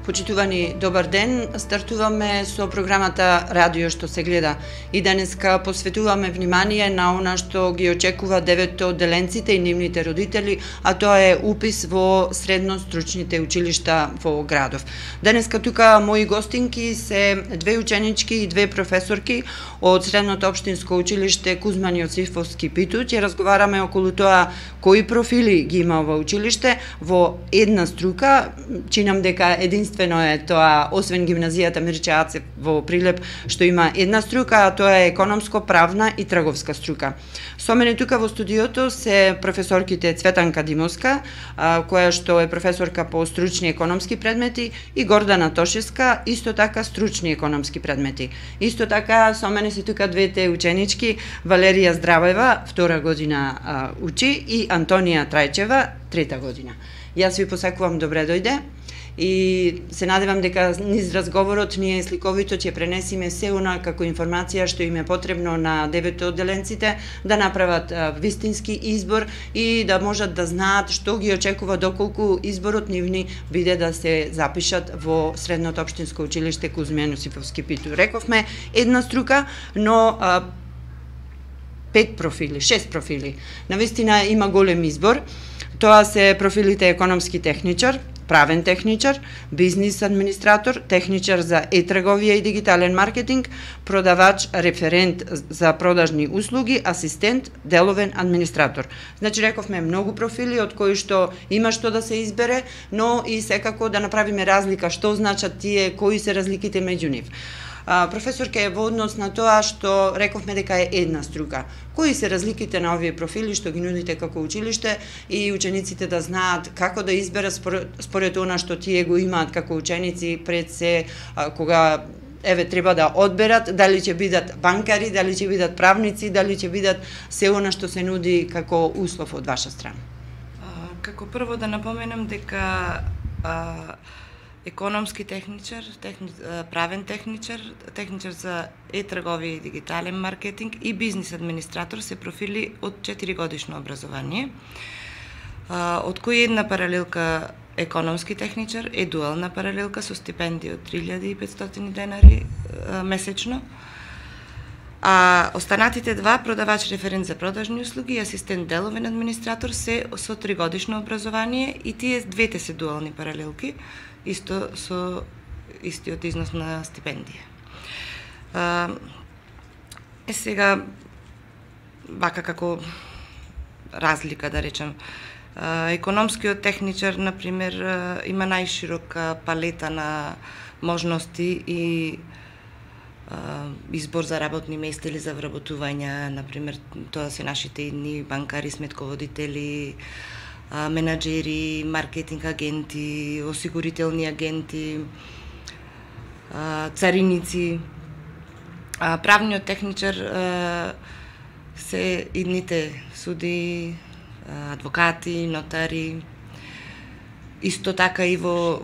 Почитувани, добар ден. Стартуваме со програмата Радио што се гледа. И денеска посветуваме внимание на она што ги очекува девето одделенците и нивните родители, а тоа е упис во средно-стручните училишта во градов. Денеска тука мои гостинки се две ученички и две професорки од Средното општинско училиште Кузман Јосифовски Питу. Ќе разговараме околу тоа кои профили ги има во училиште во една струка. Чинам дека единствено е тоа, освен гимназијата Мирче Ацев во Прилеп, што има една струка, а тоа е економско, правна и трговска струка. Со мене тука во студиото се професорките Цветанка Димовска, која што е професорка по стручни економски предмети, и Гордана Тошевска, исто така стручни економски предмети. Исто така со мене се тука двете ученички, Валерија Здравева, 2 година учи, и Антонија Трајчева, 3 година. Јас ви посакувам добре дојде и се надевам дека низ разговорот ние сликовито ќе пренесиме се она како информација што им е потребно на девето одделенците да направат вистински избор и да можат да знаат што ги очекува доколку изборот нивни биде да се запишат во Средното општинско училиште Кузман Јосифовски Питу. Рековме една струка, но 5 профили, 6 профили. Навистина има голем избор. Тоа се профилите економски техничар, правен техничар, бизнис администратор, техничар за e-трговија и дигитален маркетинг, продавач, референт за продажни услуги, асистент, деловен администратор. Значи, рековме многу профили од кои што има што да се избере, но и секако да направиме разлика што значат тие, кои се разликите меѓу нив. Професорка е во однос на тоа што рековме дека е една струка. Кои се разликите на овие профили што ги нудите како училиште и учениците да знаат како да изберат според она што тие го имаат како ученици пред се кога треба да одберат дали ќе бидат банкари, дали ќе бидат правници, дали ќе бидат се она што се нуди како услов од ваша страна. Како прво да напоменам дека економски техничар, правен техничар, техничар за e-трговија и дигитален маркетинг и бизнис администратор се профили од 4 годишно образование, од кои една паралелка економски техничар е дуална паралелка со стипендија од 3500 денари месечно, а останатите два, продавач референт за продажни услуги и асистент деловен администратор, се со 3 годишно образование и тие двете се дуални паралелки, исто со истиот износ на стипендија. Сега, вака како разлика, да речем, економскиот техничар, например, има најширока палета на можности и избор за работни места или за вработување, например, тоа се нашите идни банкари, сметководители, менаџери, маркетинг агенти, осигурителни агенти, цариници. Правниот техничар се идните суди, адвокати, нотари, исто така и во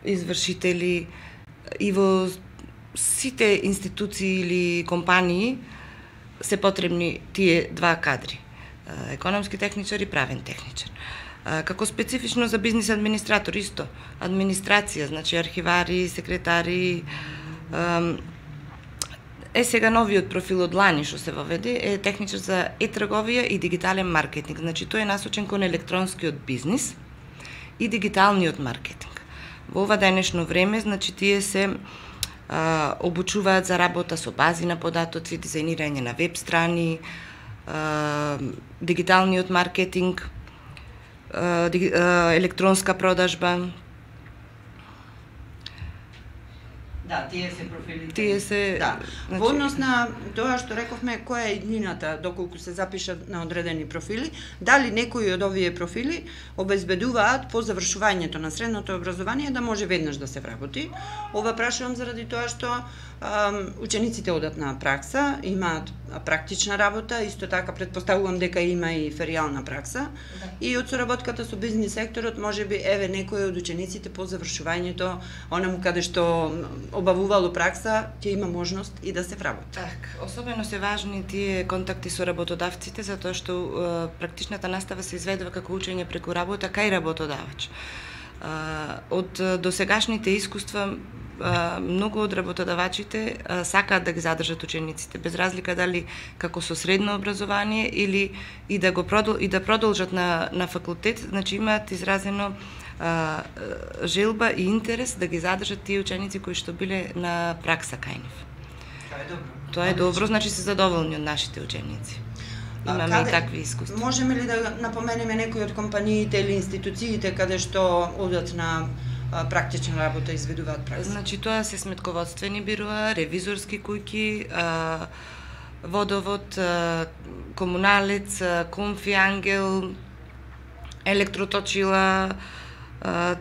извршители, и во сите институции или компании се потребни тие два кадри, економски техничар и правен техничар. Како специфично за бизнис администратор исто, администрација, значи архивари, секретари. Сега новиот профил од лани што се воведе е техничар за e-трговија и дигитален маркетинг. Значи тој е насочен кон електронскиот бизнис и дигиталниот маркетинг. Во ова денешно време, значи тие се обучуваат за работа со бази на податоци, дизајнирање на веб страни, дигиталниот маркетинг, електронска продажба. Да, тие се профилите. Тие се, да. Значи, во однос на тоа што рековме, која е иднината доколку се запишат на одредени профили, дали некои од овие профили обезбедуваат по завршувањето на средното образование да може веднаш да се вработи. Ова прашувам заради тоа што учениците одат на пракса, имаат практична работа, исто така претпоставувам дека има и феријална пракса. Да. И од соработката со бизнис секторот, можеби некој од учениците по завршувањето, онаму каде што обавувало пракса, ќе има можност и да се вработи. Так, особено се важни тие контакти со работодавците, затоа што практичната настава се изведува како учење преку работа кај работодавач. Од досегашните искуства многу од работодавачите сакаат да ги задржат учениците, без разлика дали како со средно образование или и да продолжат на факултет, значи имаат изразено желба и интерес да ги задржат тие ученици кои што биле на пракса кај нив. Тоа е добро. Тоа е добро, значи се задоволни од нашите ученици. Имаме и такви искуства. Можеме ли да напоменеме некои од компаниите или институциите каде што одат на практична работа и изведуваат пракса? Значи тоа се сметководствени бироа, ревизорски куќи, водовод, комуналец, Комфи Ангел, електроточила,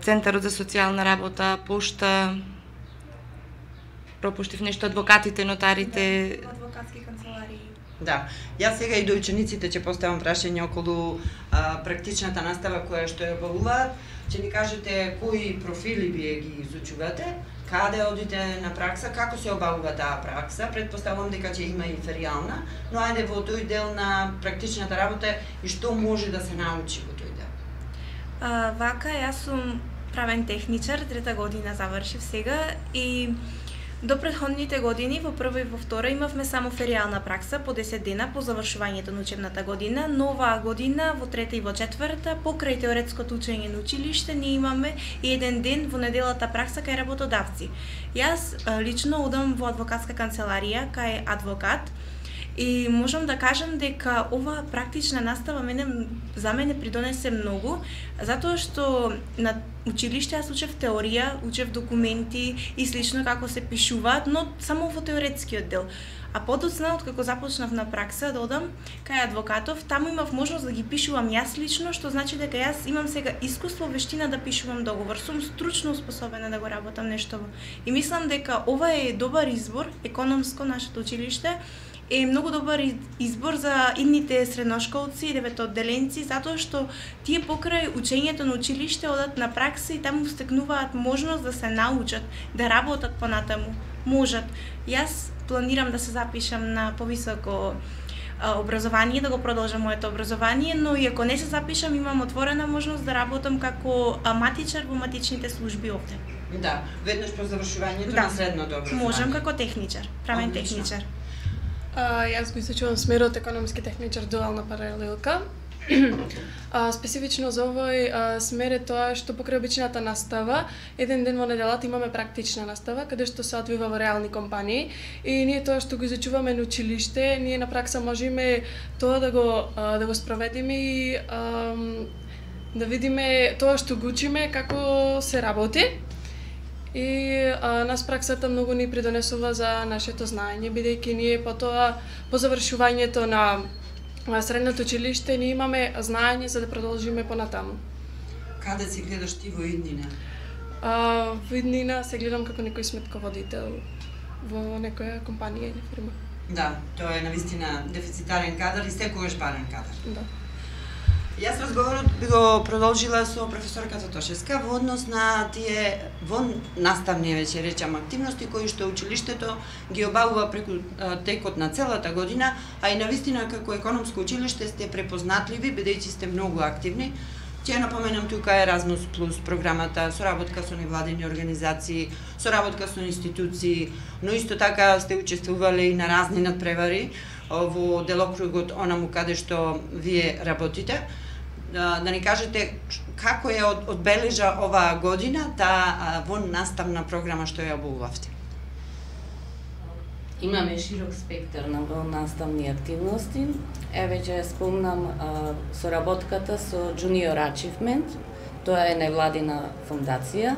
Центарот за социјална работа, пошта, пропуштив нешто, адвокатите, нотарите, адвокатски канцеларии. Да, јас сега и до учениците ќе поставам прашање околу практичната настава која што ја обавуваат. Ќе ни кажете кои профили вие ги изучувате, каде одите на пракса, како се обавува таа пракса. Предпоставувам дека ќе има и феријална, но ајде во тој дел на практичната работа и што може да се научи во тој дел. Вака, јас сум правен техничар, 3-та година завршив сега и до претходните години, во прва и во втора, имавме само феријална пракса по 10 дена по завршувањето на учебната година, но оваа година, во 3-та и во 4-та, покрај теоретското учење на училиште, ние имаме и еден ден во неделата пракса кај работодавци. Јас лично одам во адвокатска канцеларија кај адвокат, и можам да кажам дека оваа практична настава за мене придонесе многу, затоа што на училиште јас учев теорија, учев документи и слично како се пишуваат, но само во теоретскиот дел. А подоцна, откако започнав на пракса да одам кај адвокатов, таму имав можност да ги пишувам јас лично, што значи дека јас имам сега искуство, вештина да пишувам договор. Сум стручно успособена да го работам нешто. И мислам дека ова е добар избор, економско нашето училиште, е многу добар избор за идните средношколци и деветоодделенци, затоа што тие покрај учењето на училиште одат на пракса и таму стекнуваат можност да се научат, да работат понатаму. Можат. Јас планирам да се запишам на повисоко образование, да го продолжам моето образование, но и ако не се запишам, имам отворена можност да работам како матичар во матичните служби овде. Да, веднаш по завршувањето на средното образование. Можам како техничар, правен техничар. Јас го изучувам смерот економски техничар дуална паралелка. Специфично за овој смер е тоа што покрај обичната настава, еден ден во неделата имаме практична настава, каде што се одвива во реални компании и ние тоа што го изучуваме на училиште, ние на пракса можеме тоа да го спроведеме и да видиме тоа што го учиме како се работи. И нас праксата многу ни придонесува за нашето знаење, бидејќи ние по завршувањето на средното училиште ние имаме знаење за да продолжиме понатаму. Каде се гледаш ти во иднина? Во иднина се гледам како некој сметководител во некоја компанија или фирма. Да, тоа е навистина дефицитарен кадар и секогаш барен кадар. Да. Јас разговорот би го продолжила со професорката Тошевска во однос на тие наставни, веќе речам, активности кои што училиштето ги обавува преку текот на целата година, а и навистина како економско училиште сте препознатливи, бидејќи сте многу активни. Ќе напоменам тука Erasmus Plus програмата, соработка со невладини организации, соработка со институции, но исто така сте учествувале и на разни надпревари во делокругот онаму каде што вие работите. Да ни кажете како ја одбележа оваа година таа наставна програма што ја обувавте? Имаме широк спектар на наставни активности. Еве ќе спомнам соработката со Junior Achievement. Тоа е невладина фондација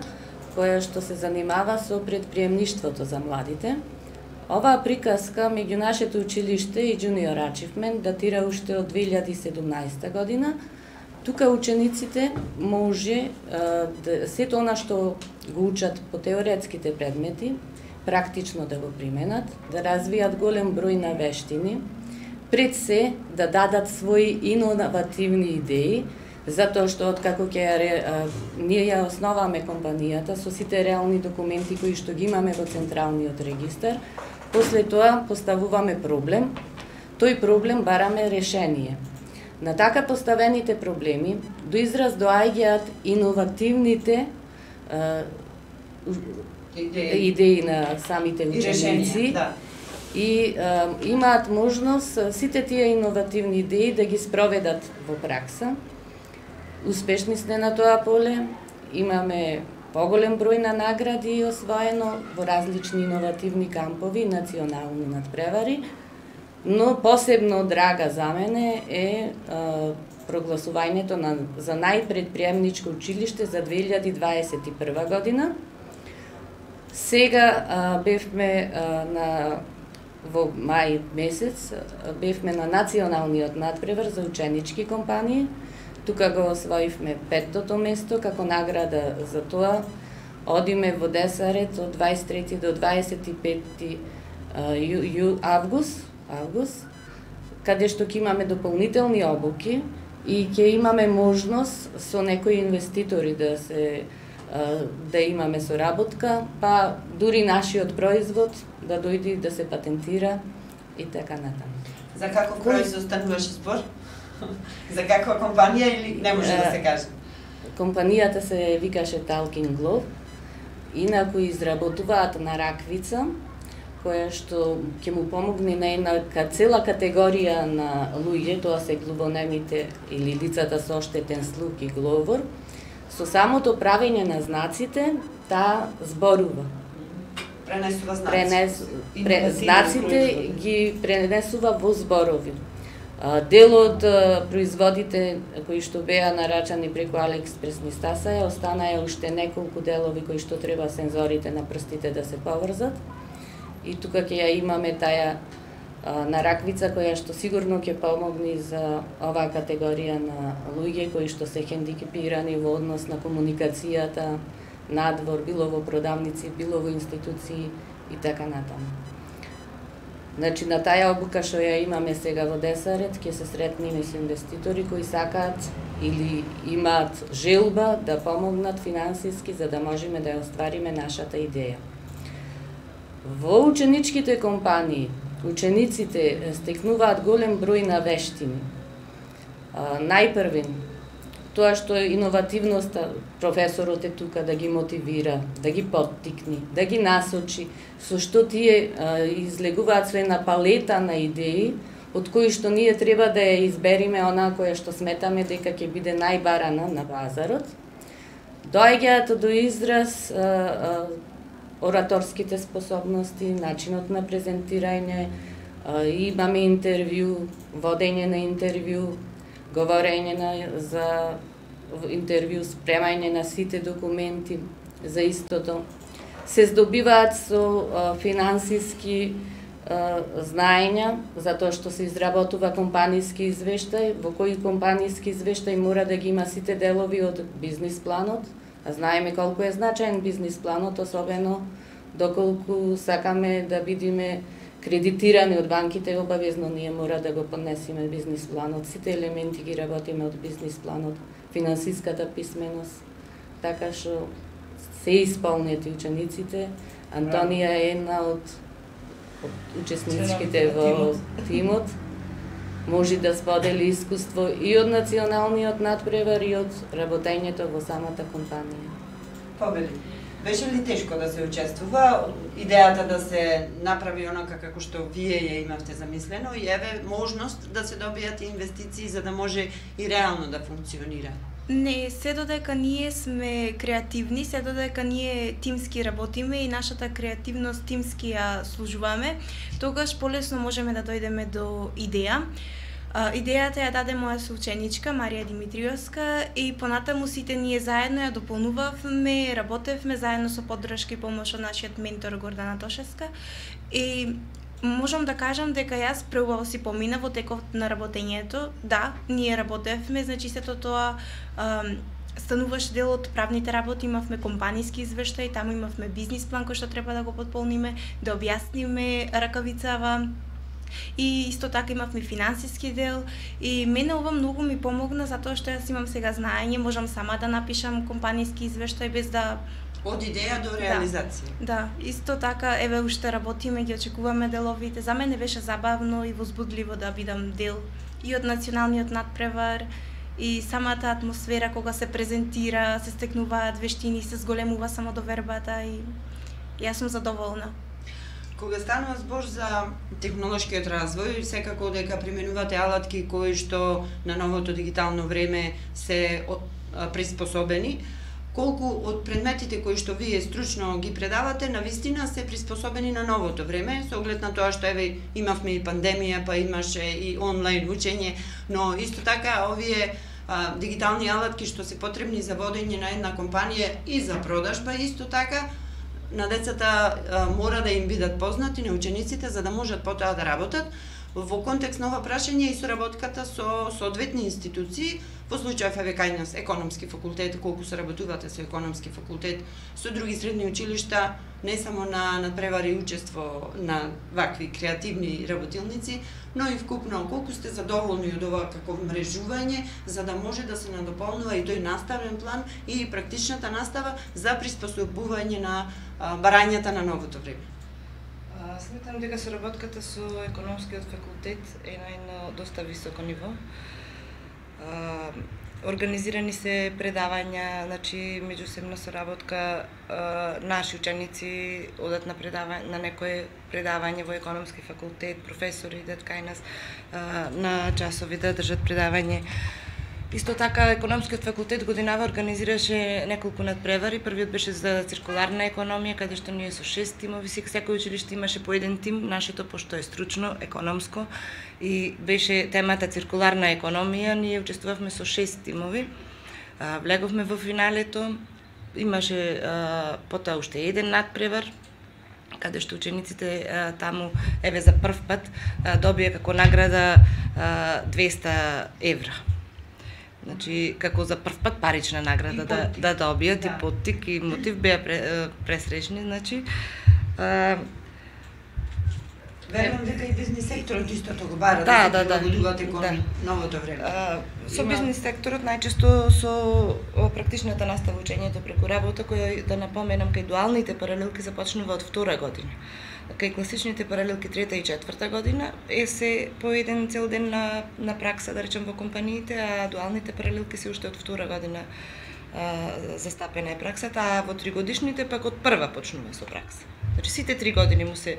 која што се занимава со предприемништвото за младите. Оваа приказка меѓу нашето училиште и Junior Achievement датира уште од 2017 година. Тука учениците може сето она што го учат по теоретските предмети, практично да го применат, да развијат голем број на вештини, пред се да дадат своји иновативни идеи, затоа што откако ние ја основаме компанијата со сите реални документи кои што ги имаме во централниот регистар, после тоа поставуваме проблем, тој проблем бараме решение. На така поставените проблеми до израз доаѓаат иновативните идеи на самите ученици и имаат можност сите тие иновативни идеи да ги спроведат во пракса. Успешни сме на тоа поле, имаме поголем број на награди освоено во различни иновативни кампови, национални надпревари, но посебно драга за мене е прогласувањето за најпредприемничко училиште за 2021 година. Сега бевме во мај месец, бевме на националниот надпревар за ученички компании. Тука го освоивме 5-тото место како награда за тоа. Одиме во Десарет од 23 до 25 август, каде што ќе имаме дополнителни обуки и ќе имаме можност со некои инвеститори да имаме соработка, па дури нашиот производ да дојде да се патентира и така натаму. За каков производ стануваше збор? За каква компанија или не може да се каже? Компанијата се викаше Talking Glove. Инаку изработуваат на раквица, која што ќе му помогне на една цела категорија на луѓе, тоа се глувонемите или лицата со оштетен слух и говор. Со самото правење на знаците, таа зборува. Пренесува знаци. Знаците ги пренесува во зборови. Дел од производите кои што беа нарачани преку Алиекспрес ни стасаја, останаа уште неколку делови кои што треба сензорите на прстите да се поврзат. И тука ќе ја имаме таа нараквица која што сигурно ќе помогне за оваа категорија на луѓе кои што се хендикепирани во однос на комуникацијата надвор, било во продавници, било во институции и така натаму. Значи, на таа обука што ја имаме сега во Десарет, ќе се сретнеме со инвеститори кои сакаат или имаат желба да помогнат финансиски за да можеме да ја оствариме нашата идеја. Во ученичките компании, учениците стекнуваат голем број на вештини. Најпрвен, тоа што е иновативноста, професорот е тука да ги мотивира, да ги поттикни, да ги насочи, со што тие излегуваат со една палета на идеи, од кои што ние треба да ја избериме онаа која што сметаме дека ќе биде најбарана на базарот. Доаѓаат до израз ораторските способности, начинот на презентирање, имаме интервју, водење на интервју, говорење за интервју, спремање на сите документи за истото. Се здобиваат со финансиски знаења, затоа што се изработува компанијски извештај, во кој компанијски извештај мора да ги има сите делови од бизнис планот. А знаеме колку е значаен бизнис планот, особено доколку сакаме да бидеме кредитирани од банките, обавезно ние мора да го поднесеме бизнис планот. Сите елементи ги работиме од бизнис планот, финансиската писменост, така што се исполнети учениците. Антонија е една од учесниците во тимот. Може да сподели искуство и од националниот надпревар и од работењето во самата компанија. Победи. Беше ли тешко да се учествува? Идејата да се направи онака како што вие ја имавте замислено и еве можност да се добијат инвестиции за да може и реално да функционира? Не, се додека ние сме креативни, се додека ние тимски работиме и нашата креативност тимски ја служуваме, тогаш полесно можеме да дојдеме до идеја. Идејата ја даде моја соученичка Марија Димитриевска и понатаму сите ние заедно ја дополнувавме, работевме заедно со поддршка и помош од нашиот ментор Гордана Тошевска и можам да кажам дека јас преубаво си помина во текот на работењето. Да, ние работевме, значи сето тоа стануваше дел од правните работи, имавме компанијски извештај, таму имавме бизнис план кој што треба да го потполниме, да објасниме ракавицава. И исто така имавме финансиски дел и мене ова многу ми помогна затоа што јас имам сега знаење, можам сама да напишам компанијски извештај без да од идеја до реализација. Да, исто така еве уште работиме, ги очекуваме деловите. За мене беше забавно и возбудливо да бидам дел и од националниот надпревар, и самата атмосфера кога се презентира, се стекнуваат вештини, се зголемува самодовербата и јас сум задоволна. Кога станува збор за технолошкиот развој, секако дека применувате алатки кои што на новото дигитално време се приспособени, колку од предметите кои што вие стручно ги предавате навистина се приспособени на новото време, со оглед на тоа што еве имавме и пандемија, па имаше и онлайн учење, но исто така овие дигитални алатки што се потребни за водење на една компанија и за продажба, исто така на децата мора да им бидат познати, на учениците, за да можат потоа да работат. Во контекст на ова прашање и соработката со соодветни институции, во случајов еве кај нас економски факултет, колку соработувате со економски факултет, со други средни училишта, не само на надпревари учество на вакви креативни работилници, но и вкупно колку сте задоволни од ова како мрежување, за да може да се надополнува и тој наставен план и практичната настава за приспособување на барањата на новото време. Сметам дека соработката со економскиот факултет е на едно доста високо ниво. Организирани се предавања, значи меѓусебна соработка, наши ученици одат на некое предавање во економски факултет, професори идат кај нас на часови да држат предавање. Исто така, економскиот факултет годинава организираше неколку надпревари. Првиот беше за циркуларна економија, каде што ние со 6 тимови, секој училиште имаше по еден тим, нашето пошто е стручно, економско, и беше темата циркуларна економија, ние учествувавме со 6 тимови. Влеговме во финалето, имаше потоа уште еден надпревар, каде што учениците таму, еве за прв пат, добија како награда 200 евра. Значи, како за прв пат парична награда да добијат, и поттик, и мотив, беа пресречни, значи. Верувам дека и бизнис секторот истото го бара да се прилагодувате кон новото време. Со бизнис секторот најчесто со практичната настава учењето преку работа, која, да напоменам, кај дуалните паралелки започнува од втора година. Кај класичните паралелки трета и четврта година е се по еден цел ден на пракса, да речем, во компаниите, а дуалните паралелки се уште од втора година застапена е праксата, а во тригодишните пак од прва почнува со пракса. Значи сите 3 години му се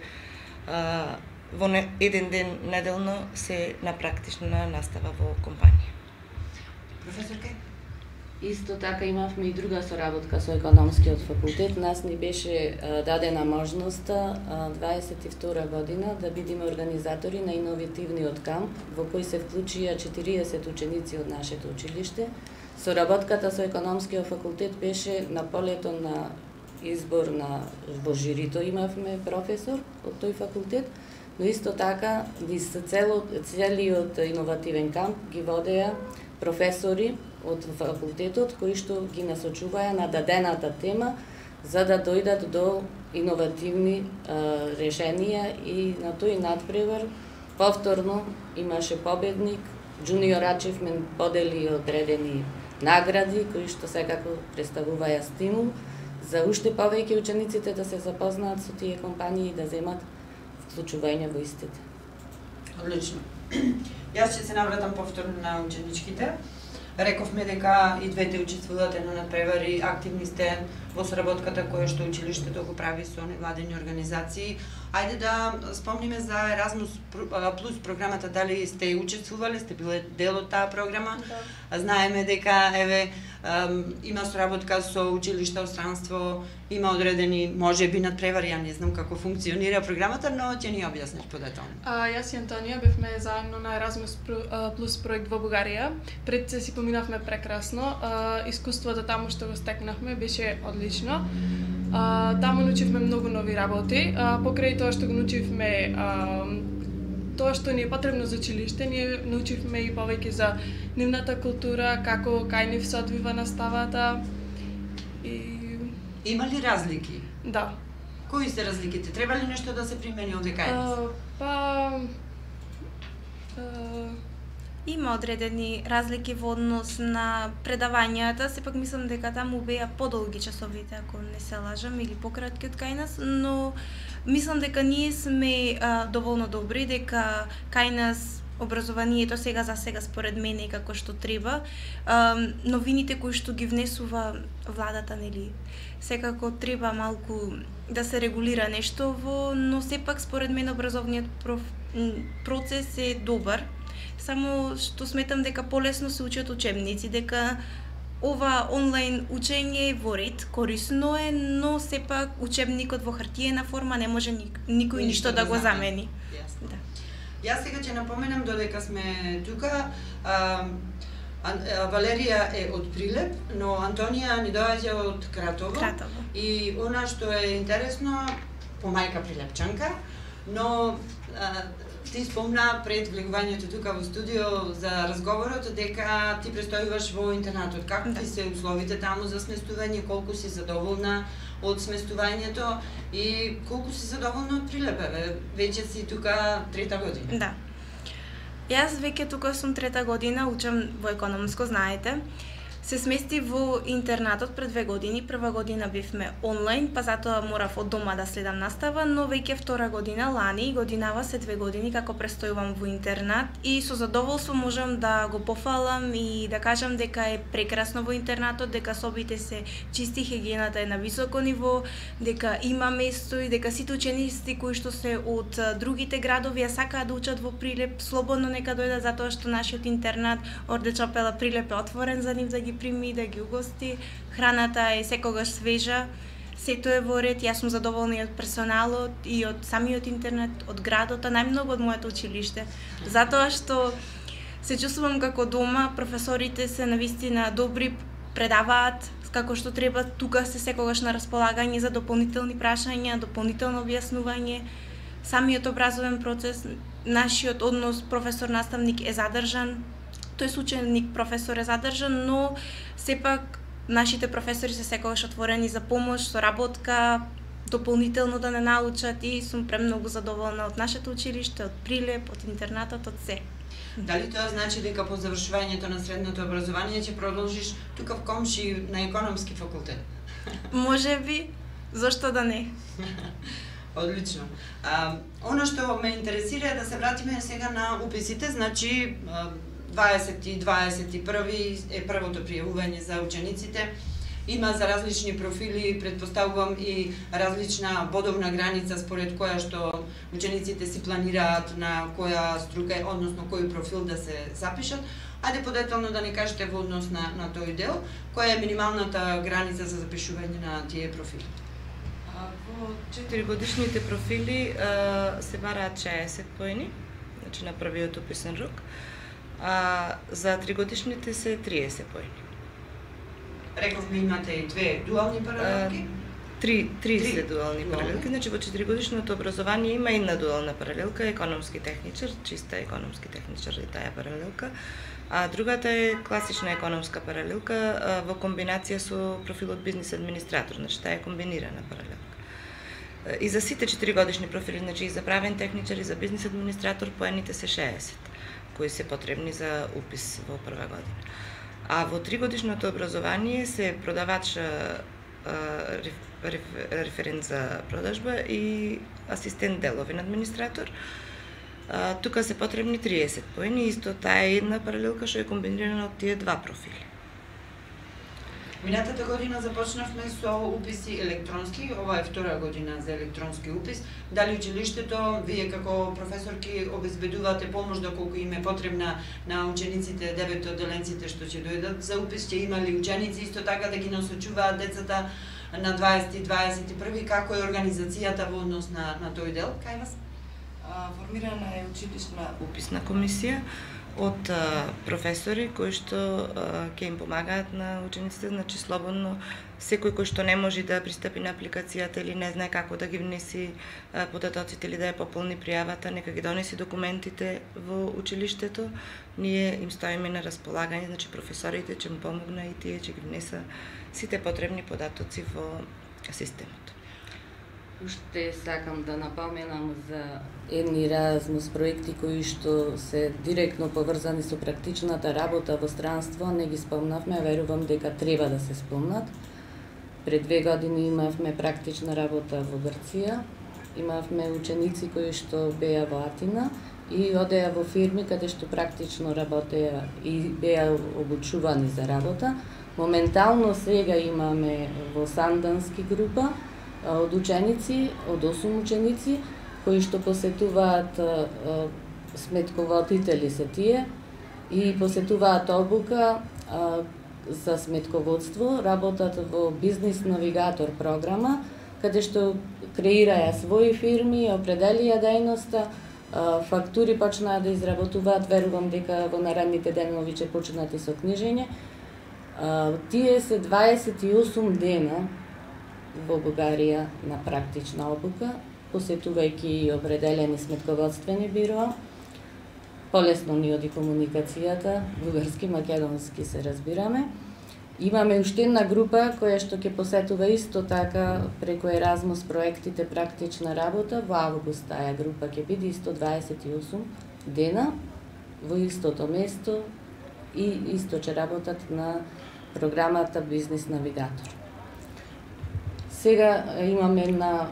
во еден ден неделно се на практична настава во компанија. Професорке? Исто така имавме и друга соработка со економскиот факултет. Нас ни беше дадена можноста 22 година да бидеме организатори на иновативниот камп, во кој се вклучија 40 ученици од нашето училиште. Соработката со економскиот факултет беше на полето на избор во жирито имавме професор од тој факултет, но исто така целиот иновативен камп ги водеа професори од факултетот кои што ги насочуваја на дадената тема за да дојдат до иновативни решенија, и на тој надпревар повторно имаше победник. Junior Achievement подели одредени награди кои што секако представуваја стимул за уште повеќе учениците да се запознаат со тие компании и да земат вклучување во истите. Одлично. Јас ќе се навратам повторно на ученичките. Рековме дека и двете учествувате на надпревари, активни сте во соработката која што училиштето го прави со невладени организации. Ајде да спомниме за Erasmus Plus програмата, дали сте учествувале, сте биле дел од таа програма? Да. Знаеме дека еве има соработка со училишта од странство, има одредени можеби надпревари, ја не знам како функционира програмата, но ќе ни објасниш подетално. Јас и Антонија бевме заедно на Erasmus Plus проект во Бугарија. Пред се си поминавме прекрасно. Искуството таму што го стекнавме беше одлично. Таму научивме многу нови работи. Покрај тоа што го научивме тоа што ни е потребно за училиште, ние научивме и повеќе за нивната култура, како кај нив се одвива наставата. Има ли разлики? Да. Кои се разликите? Треба ли нешто да се примени овде кај нас? Има одредени разлики во однос на предавањата, сепак мислам дека таму беа подолги часовите, ако не се лажам, или пократки од кај нас, но мислам дека ние сме доволно добри, дека кај нас образованието сега за сега според мене и како што треба. Новините кои што ги внесува владата, нели, секако треба малку да се регулира нешто но сепак според мене образовниот процес е добар. Само што сметам дека полесно се учат учебници, дека ова онлайн учење е во ред, корисно е, но сепак учебникот во хартиена форма не може никој ништо да го замени. Да. Јас сега ќе напоменам додека сме тука, Валерија е од Прилеп, но Антонија ни доаѓа од Кратово. И она што е интересно, по мајка Прилепчанка, но ти спомна пред влегувањето тука во студио за разговорот дека ти престојуваш во интернатот. Како ти се условите таму за сместување, колку си задоволна од сместувањето и колку си задоволна од Прилеп? Веќе си тука 3-та година. Да. Јас веќе тука сум 3-та година, учам во економско, знаете. Се смести во интернатот пред 2 години. Прва година бевме онлайн, па затоа морав од дома да следам настава, но веќе втора година, лани, годинава се 2 години како престојувам во интернат и со задоволство можам да го пофалам и да кажам дека е прекрасно во интернатот, дека собите се чисти, хигиената е на високо ниво, дека има место и дека сите ученици кои што се од другите градови а сакаат да учат во Прилеп, слободно нека дојдат затоа што нашиот интернат Орде Чапела Прилеп е отворен за нив да ги прими, да ги угости. Храната е секогаш свежа, сето е во ред. Јас сум задоволна и од персоналот и од самиот интернет, од градот, а најмногу од моето училиште. Затоа што се чувствувам како дома, професорите се навистина добри, предаваат како што треба, тука се секогаш на располагање за дополнителни прашања, дополнително објаснување. Самиот образовен процес, нашиот однос професор-наставник е задржан. Тој ученик професор е задржан, но сепак нашите професори се секогаш отворени за помош, соработка, дополнително да не научат и сум премногу задоволна од нашето училиште, од Прилеп, од интернатот, од се. Дали тоа значи дека по завршувањето на средното образование ќе продолжиш тука в Комши на економски факултет? Може би, зошто да не? Одлично. Оно што ме интересира е да се вратиме сега на уписите, значи 20-21 е првото пријавување за учениците. Има за различни профили, предпоставувам и различна бодовна граница според која што учениците си планираат на која струка, односно кој профил да се запишат. Ајде подетално да ни кажете во однос на тој дел, која е минималната граница за запишување на тие профили? Во 4-годишните профили се бараат 60 поени, значи на првиот уписен рок. За 3-годишните се 30 поени. Рековме имате и 2 дуални паралелки? 3 се дуални паралелки, значи во 4-годишното образование има една дуална паралелка, економски техничар, чиста економски техничар и таа паралелка, а другата е класична економска паралелка во комбинација со профилот бизнис администратор, значи таа е комбинирана паралелка. И за сите 4-годишни профили, значи и за правен техничар и за бизнис администратор, поените се 60, кои се потребни за упис во прва година. А во 3-годишното образование се продавач, референт за продажба и асистент деловен администратор. Тука се потребни 30 поени, исто таа е една паралелка што е комбинирана од тие два профили. Минатата година започнавме со уписи електронски, ова е втора година за електронски упис. Дали училиштето, вие како професорки обезбедувате помош доколку им е потребна на учениците, 9 одделенците што ќе дојдат за упис, ќе има ли ученици исто така да ги насочуваат децата на 20-21, како е организацијата во однос на тој дел? Кај вас? Формирана е училишна уписна комисија од професори кои што ќе им помагаат на учениците, значи слободно секој кој што не може да пристапи на апликацијата или не знае како да ги внеси податоците или да ја пополни пријавата, нека ги донеси документите во училиштето. Ние им стоиме на располагање, значи професорите ќе му помогна и тие ќе ги внеса сите потребни податоци во системот. Уште сакам да напоменам за едни Еразмус проекти кои што се директно поврзани со практичната работа во странство, не ги спомнавме, верувам дека треба да се спомнат. Пред 2 години имавме практична работа во Грција, имавме ученици кои што беа во Атина и одеа во фирми каде што практично работеа и беа обучувани за работа. Моментално сега имаме во Сандански група од ученици, од 8 ученици, кои што посетуваат сметководители се тие и посетуваат обука за сметководство, работат во бизнис навигатор програма, каде што креираја своји фирми, определија дејноста, фактури почнаа да изработуваат, верувам дека во наредните денови ќе почнат и со книжење. Тие се 28 дена во Бугарија на практична обука, посетувајќи и определени сметководствени бироа. Полесно ни оди комуникацијата, бугарски, македонски се разбираме. Имаме уште една група која што ќе посетува исто така преку Еразмус проектите практична работа. Во август таа група ќе биде исто 28 дена во истото место и исто ќе работат на програмата Бизнис навигатор. Сега имаме една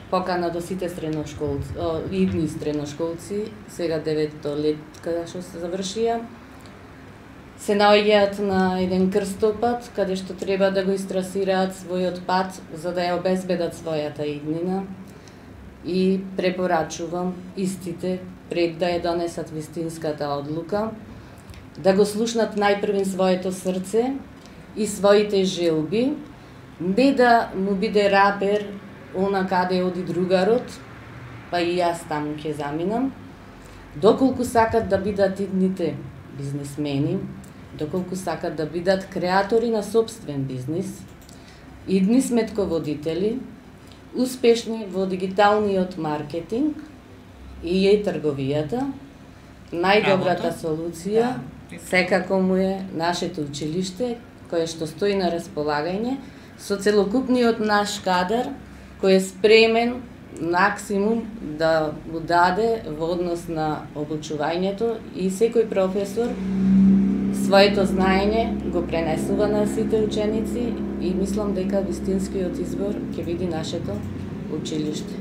покана до сите средношколци, идни средношколци, сега 9-то летка што се завршија, се наоѓаат на еден крстопат, каде што треба да го истрасираат својот пат, за да ја обезбедат својата иднина. И препорачувам истите, пред да ја донесат вистинската одлука, да го слушнат најпрвен своето срце и своите желби, не да му биде рапер она каде оди другарот, па и јас таму ќе заминам, доколку сакат да бидат идните бизнисмени, доколку сакат да бидат креатори на собствен бизнис, идни сметководители, успешни во дигиталниот маркетинг и трговијата, најдобрата солуција секако му е нашето училиште, кое што стои на располагање, со целокупниот наш кадар, кој е спремен максимум да му даде во однос на обучувањето и секој професор своето знаење го пренесува на сите ученици и мислам дека вистинскиот избор ќе биде нашето училиште.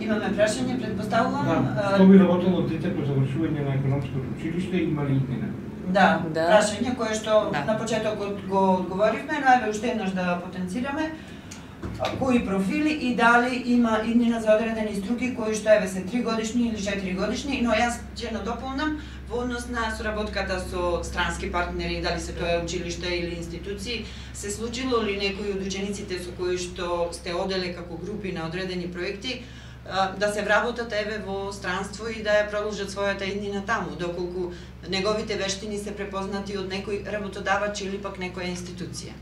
Имаме прашање, предпоставувам. Што би работело дете по завршување на економското училиште, има ли иднина? Да, прашање кое што на почетокот го одговоривме, но еве уште еднаш да потенцираме. Кои профили и дали има иднина за одредени струки кои што еве се 3 годишни или 4 годишни, но јас ќе надополнам во однос на соработката со странски партнери, дали се тоа училиште или институции, се случило ли некои од учениците со кои што сте оделе како групи на одредени проекти да се вработат еве во странство и да ја продолжат својата иднина таму, доколку неговите вештини се препознати од некој работодавач или пак некоја институција?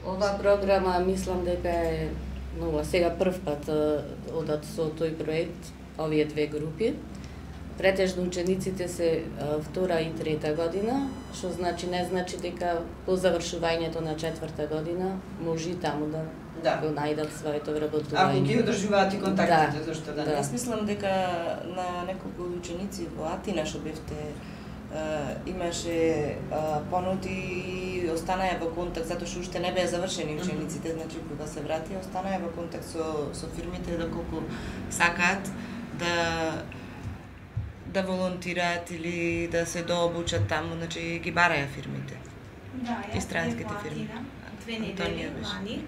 Ова програма мислам дека е нова. Сега прв пат одат со тој проект овие две групи. Претежно учениците се втора и трета година, што значи не значи дека по завршувањето на четврта година може и таму да го најдат своето вработување. Ако ги одржуваат и контактите, зашто да не? Јас мислам дека на неколку ученици во Атина што бевте имаше понуди и останаа во контакт, затоа што уште не беа завршени учениците, значи кога се вратија останаа во контакт со фирмите доколку сакаат да волонтираат или да се дообучат таму, значи ги бараја фирмите. Да, и странските фирми. 2 недели лани.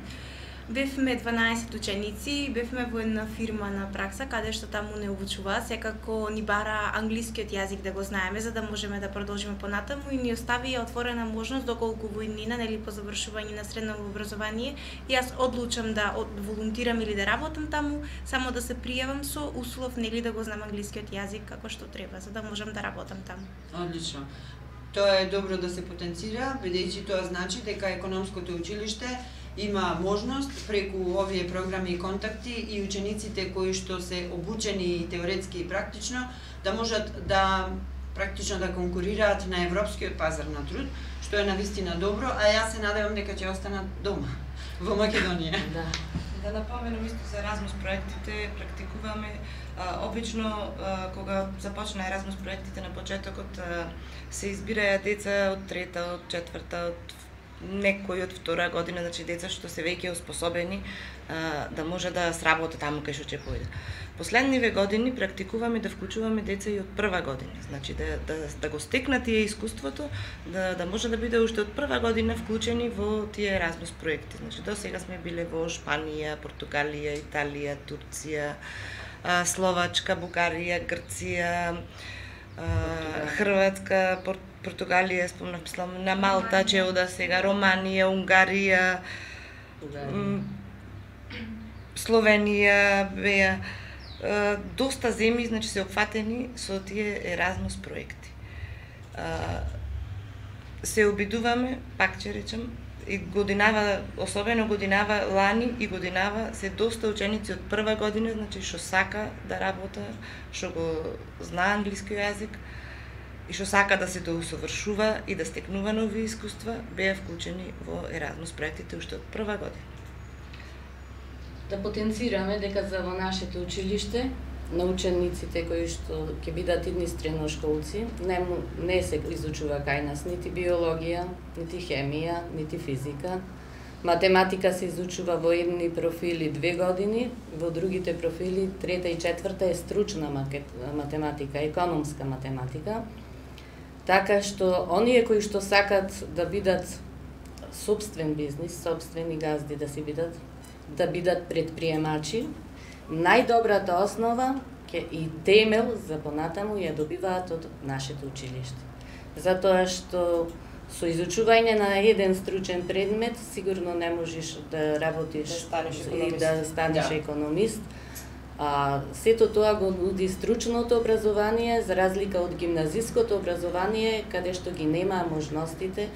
Бевме 12 ученици, бевме во една фирма на пракса, каде што таму не обучуваат, секако ни бара англискиот јазик да го знаеме, за да можеме да продолжиме понатаму и ни остави отворена можност доколку во иднина, нели по завршување на средно образование, јас одлучам да волонтирам или да работам таму, само да се пријавам со услов нели да го знам англискиот јазик како што треба, за да можам да работам таму. Одлично. Тоа е добро да се потенцира, бидејќи тоа значи дека економското училиште има можност преку овие програми и контакти и учениците кои што се обучени и теоретски и практично да можат да практично да конкурираат на европскиот пазар на труд, што е навистина добро, а јас се надевам дека ќе останат дома во Македонија. Да напоменам исто за Еразмус проектите, практикуваме обично кога започна Еразмус проектите на почетокот се избираја деца од трета, од четврта, од некои од втора година, значи деца што се веќе успособени да може да сработат таму кај што ќе појде. Последниве години практикуваме да вклучуваме деца и од прва година, значи да го стекнат тие искуството, да може да биде уште од прва година вклучени во тие Еразмус проекти. Значи до сега сме биле во Шпанија, Португалија, Италија, Турција, Словачка, Бугарија, Грција, Хрватска, Португалија, спомнав, на Малта, Чеуда сега, Романија, Унгарија, Словенија беа. Доста земји, значи, се опфатени со тие Еразмус проекти. Се обидуваме, пак ќе речем, и годинава, особено годинава лани и годинава се доста ученици од прва година, значи што сака да работа, што го знае англиски јазик и што сака да се доусовршува и да стекнува нови искуства, беа вклучени во Еразмус проектите уште од прва година. Да потенцираме дека за во нашето училиште на учениците кои што ќе бидат идни средношколци не се изучува кај нас нити биологија, нити хемија, нити физика. Математика се изучува во едни профили 2 години, во другите профили 3-та и 4-та е стручна математика, економска математика. Така што оние кои што сакат да бидат сопствен бизнис, сопствени газди да бидат предприемачи, најдобрата основа и темел за понатаму ја добиваат од нашето училиште. Затоа што со изучување на еден стручен предмет сигурно не можеш да работиш и да станеш економист. Сето тоа го нуди стручното образование за разлика од гимназиското образование каде што ги немаа можностите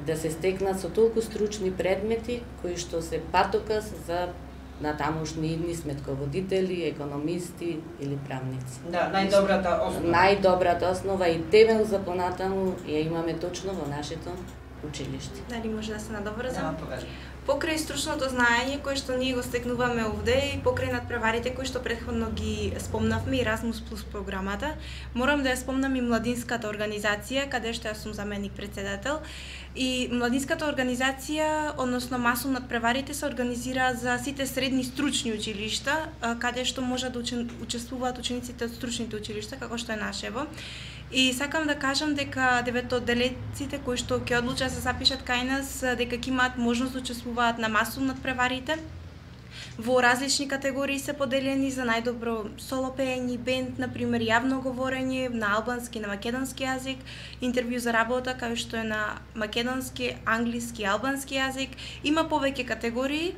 да се стекнат со толку стручни предмети кои што се патокас за натамошни идни сметководители, економисти или правници. Да, најдобрата основа. Најдобрата основа и темел за понатаму ја имаме точно во нашето училиште. Дали може да се надоврзам? Да, повели. Покрај стручното знаење кое што ние го стекнуваме овде и покрај надпреварите кои што претходно ги спомнавме и Еразмус плюс програмата, морам да ја спомнам и младинската организација каде што јас сум заменик председател. И младинската организација, односно масом надпреварите се организира за сите средни стручни училишта, каде што може да учествуваат учениците од стручните училишта, како што е нашево. И сакам да кажам дека деветоделеците кои што ќе одлучат да се запишат кај нас, дека ќе имаат можност да учествуваат на масов надпреварите. Во различни категории се поделени за најдобро соло пеење, бенд, например јавно говорење на албански, на македонски јазик, интервју за работа кај што е на македонски, англиски, албански јазик. Има повеќе категории.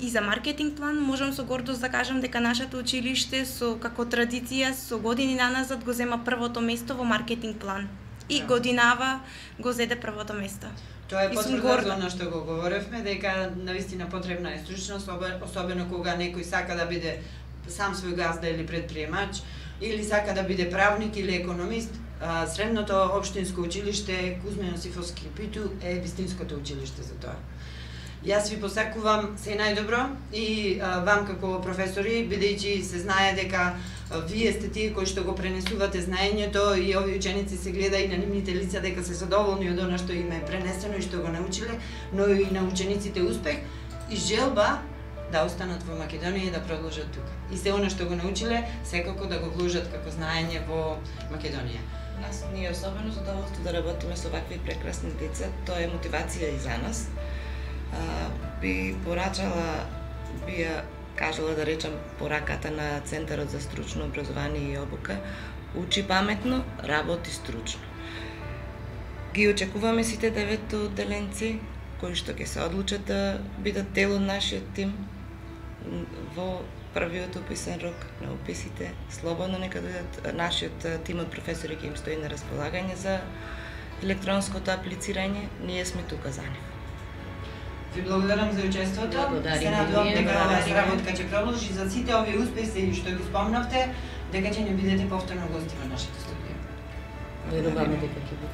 И за маркетинг план можам со гордост да кажам дека нашето училиште како традиција со години наназад го зема првото место во маркетинг план. И годинава го зеде првото место. Тоа е потврда за она што го говоревме, дека навистина потребна е стручност, особено кога некој сака да биде сам свој газда или предприемач, или сака да биде правник или економист. Средното општинско училиште Кузма Јосифовски Питу е вистинското училиште за тоа. Јас ви посакувам се најдобро и вам како професори, бидејќи се знае дека вие сте тие кои што го пренесувате знаењето и овие ученици се гледа и на нивните лица дека се задоволни од она што им е пренесено и што го научиле, но и на учениците успех и желба да останат во Македонија и да продолжат тука. И се она што го научиле, секако да го вложат како знаење во Македонија. Нас ни е особено задоволство да работиме со вакви прекрасни деца, тоа е мотивација и за нас. Би ја кажала да речам пораката на Центарот за стручно образование и обука, учи паметно, работи стручно. Ги очекуваме сите 9 одделенци кои што ќе се одлучат да бидат дел од нашиот тим во првиот уписен рок на уписите. Слободно нека дојдат, нашиот тим од професори ќе им стои на располагање за електронското аплицирање, ние сме тука за нив. Ви благодарам за учеството. Се надевам дека оваа работка ќе продолжи за сите овие успеси што ги спомнавте, дека ќе не бидете повторно гости во нашето студио. Веруваме дека ќе биде.